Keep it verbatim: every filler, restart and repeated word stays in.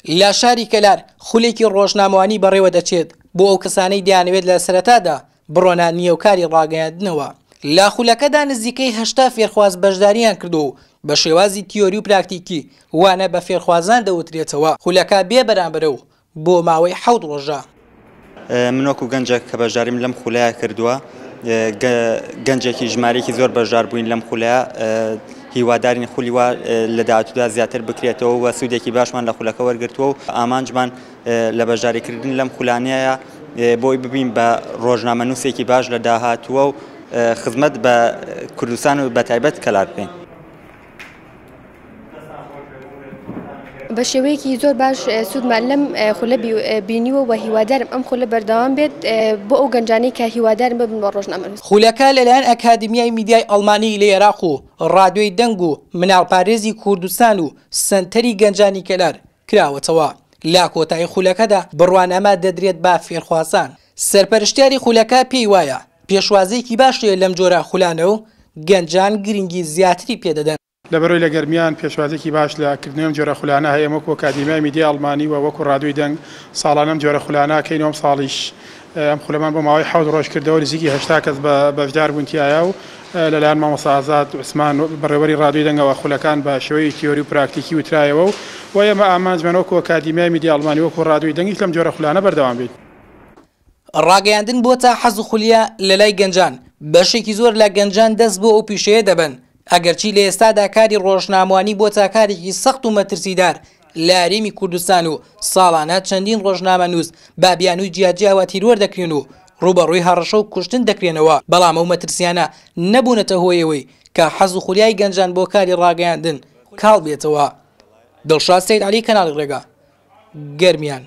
لە شاری کەلار خولێکی ڕۆژنامەوانی بەڕێوە دەچێت بۆ ئەو کەسانەی دەیانەوێت لە سەرەتادا بڕۆنە نیەوکاری ڕاگەیاندنەوە. لە خولەکەدا نزیکەی هەشتا فێرخواز بەشداریان کردو و بە شێوازی تیۆری و پراکتیکی وانە بە فێرخوازان دەوترێتەوە. خولەکە بێ بەرامبەرە و بۆ ماوەی حەوت ڕۆژە. من وەکو گەنجێک کە بەشداریم لەم خولەیە کردووە، گەنجێکی ژمارەیەکی زۆر بەشدار بووین لەم خولەیە، هیوادارین خولی وا لە داهاتوودا زیاتر بکرێتەوە و سوودێکی باشمان لە خولەکە وەرگرتووە و ئامانجمان لە بەشداریکردن لەم خولانەیە بۆی ببین بە ڕۆژنامەنووسێکی باش لە داهاتووە و خزمەت بە کوردستان و بە تایبەت کەلار بکەین. بە شێوەیەکی زۆر باش سوودمان لەم خولە بینیوە و هیوادارم ئەم خولە بەردەوام بێت بۆ ئەو گەنجانەی کە هیوادارم ببن بە ڕۆژنامەنووس. خولەکە لەلایەن ئەکادیمیای میدیای ئەڵمانی لە عێراق و ڕادیۆی دەنگ و مناڵپارێزی کوردستان و سەنتەری گەنجانی کەلار کراوەتەوە. لە کۆتایی خولەکەدا بڕوانامە دەدرێت بە فێرخوازان. سەرپەرشتیاری خولەکە پێی وایە پێشوازێکی باش هەیە لەم جۆرە خولانە و گەنجان گرنگی زیاتری پێدەدەن. لەبەرەوەی لە گەرمیان پێشوازێکی باش لە کردنەوەی ئەم جۆرە خولانە هەیە، وەکو ئەکادیمیای میدیای ئەڵمانی و وەکو ڕادیۆی دەنگ ساڵانە ئەم جۆرە خولانە کەین و ئەم ساڵیش ئەم خولەمان بۆ ماوەی حەوت ڕۆژ کردەوە، نزیکی هەشتا کەس بە بەشدار بوون تیایا و لەلایەن مامۆستا ئازاد عوسمان بەڕێوەری ڕادیۆی دەنگەوە خولەکان بە شێوەی تیۆری و پراکتیکی وترایەوە و ئێمە ئامانجمان وەکو ئەکادیمیای میدیای ئەڵمانی وەکو ڕادیۆی دەنگیش لەم جۆرە خولانە بەردەوام بین. ڕاگەیاندن بۆتە حەز و خولیا لەلای گەنجان، بەشێکی زۆر لە گەنجان دەست بۆ ئەو پیشەیە دەبن، ئەگەرچی لە ئێستادا کاری ڕۆژنامەوانی بۆتە کارێکی سەخت و مەترسیدار لە هەرێمی کوردستان و ساڵانە چەندین ڕۆژنامەنووس بە بیانووی جیاجیاوە تیرۆر دەکرێن و ڕووبەڕووی هەڕەشە و کوشتن دەکرێنەوە، بەڵام ئەو مەترسیانە نەبوونەتە هۆیەوەی کە حەز و خولیای گەنجان بۆ کاری ڕاگەیاندن کاڵ بێتەوە. دڵشاد سەید عەلی، کەناڵی ڕێگا، گەرمیان.